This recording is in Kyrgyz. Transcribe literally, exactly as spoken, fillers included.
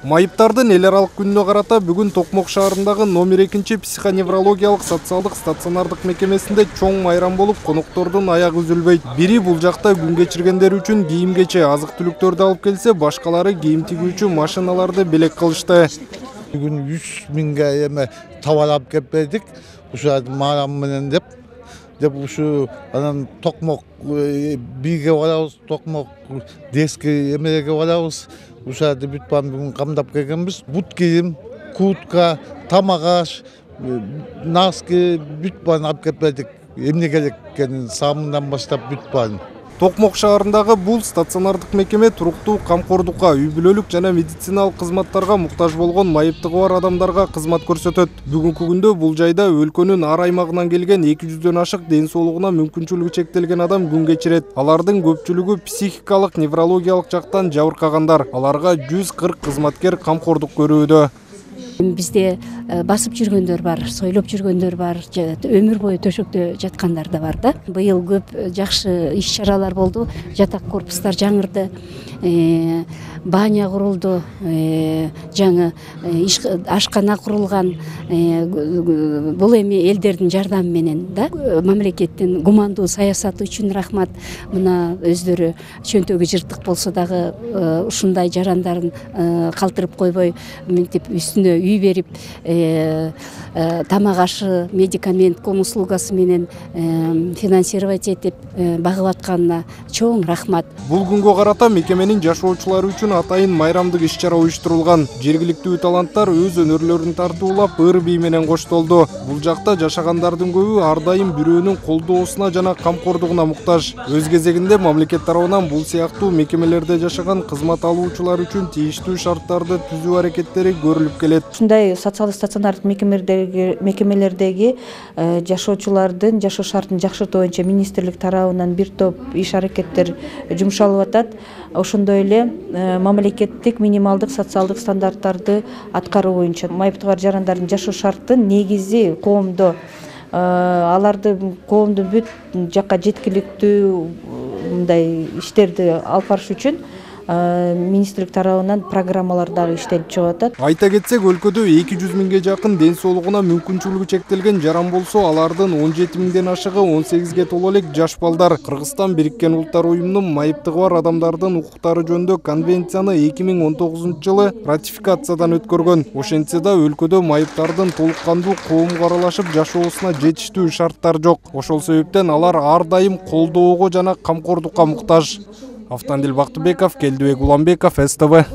Майыптардын эл аралык күнүнө карата бүгүн Токмок шаарындагы номер экинчи психоневрологиялык социалдык стационардык мекемесинде чоң майрам болуп, коноктордун аягы үзүлбөйт. Бири бул жакта күн кечиргендер үчүн кийим-кече, азык-түлүктөрдү алып келсе, башкалары кийим тигүүчү машиналарды белек кылышты. Бүгүн үч миңге эме товар алып келип бердик. Ушул майрам менен деп деп ушу анан Токмок бирге барабыз, Токмок детский эмелерге барабыз. Ушарды бүт баарын бүгүн камдап келгенбиз. Бут кийим, куртка, тамак аш, носки бүт баарын алып келип бердик. Эмне керек экенин сабындан баштап бүт баарын. Токмок шаарындагы бул стационардык мекеме туруктуу камкордукка, үй бүлөлүк жана медициналык кызматтарга муктаж болгон майыптыгы бар адамдарга кызмат көрсөтөт. Бүгүнкү күндө бул жайда өлкөнүн ар аймагынан келген эки жүздөн ашык ден соолугуна мүмкүнчүлүгү чектелген адам күн кечирет. Алардын көпчүлүгү психикалык, неврологиялык жактан жабыркагандар. Аларга жүз кырк кызматкер камкордук көрүүдө. Бизде басып жүргөндөр бар, сойлоп жүргөндөр бар, өмүр бою төшөктө жаткандар да бар да. Быйыл көп жакшы иш-чаралар болду. Жатак корпустар жаңырды, баня курулду, жаңы ашкана курулган. Бул эми элдердин жардамы менен да. Мамлекеттин гумандуу саясаты үчүн рахмат. Мына өздөрү чөнтөгү жыртык болсо дагы ушундай жарандарын калтырып койбой, мынтип үстүнө үй берип, тамак ашы, медикамент, ком услугасы менен финансировать этип багып атканына чоң рахмат. Бул күнгө карата мекеменин жашоочулары үчүн атайын майрамдык иш-чара уюштурулган. Жергиликтүү таланттар өз өнөрлөрүн тартуулап, ыр бий менен коштолду. Бул жакта жашагандардын көбү ар дайым бирөөнүн колдоосуна жана камкордугуна муктаж. Өз кезегинде мамлекет тарабынан бул сыяктуу мекемелерде жашаган кызмат алуучулар үчүн тийиштүү шарттарды түзүү аракеттери көрүлүп келет. Ушундай социалдык стационардык мекемелердеги мекемелердеги жашоочулардын жашоо шартын жакшыртуу боюнча министрлик тарабынан бир топ иш аракеттер жумшалып атат. Ошондой эле мамлекеттик минималдык социалдык стандарттарды аткаруу боюнча майыптыгы бар жарандардын жашоо шартын негизи коомдо аларды коомдун бүт жакка жеткиликтүү мындай иштерди алып барыш үчүн министрлик тарабынан программалар дагы иштелип чыгып атат. Айта кетсек, өлкөдө эки жүз миңге жакын ден соолугуна мүмкүнчүлүгү чектелген жаран болсо, алардын он жети миңден ашыгы он сегизге толо элек жаш балдар. Кыргызстан Бириккен Улуттар уюмунун майыптыгы бар адамдардын укуктары жөнүндө конвенцияны эки миң он тогузунчу жылы ратификациядан өткөргөн. Ошентсе да өлкөдө майыптардын толук кандуу коомго аралашып жашоосуна жетиштүү шарттар жок. Ошол себептен алар ар дайым колдоого жана камкордукка муктаж. Автандил Бактыбеков, Келдибек Уланбеков, С Т В.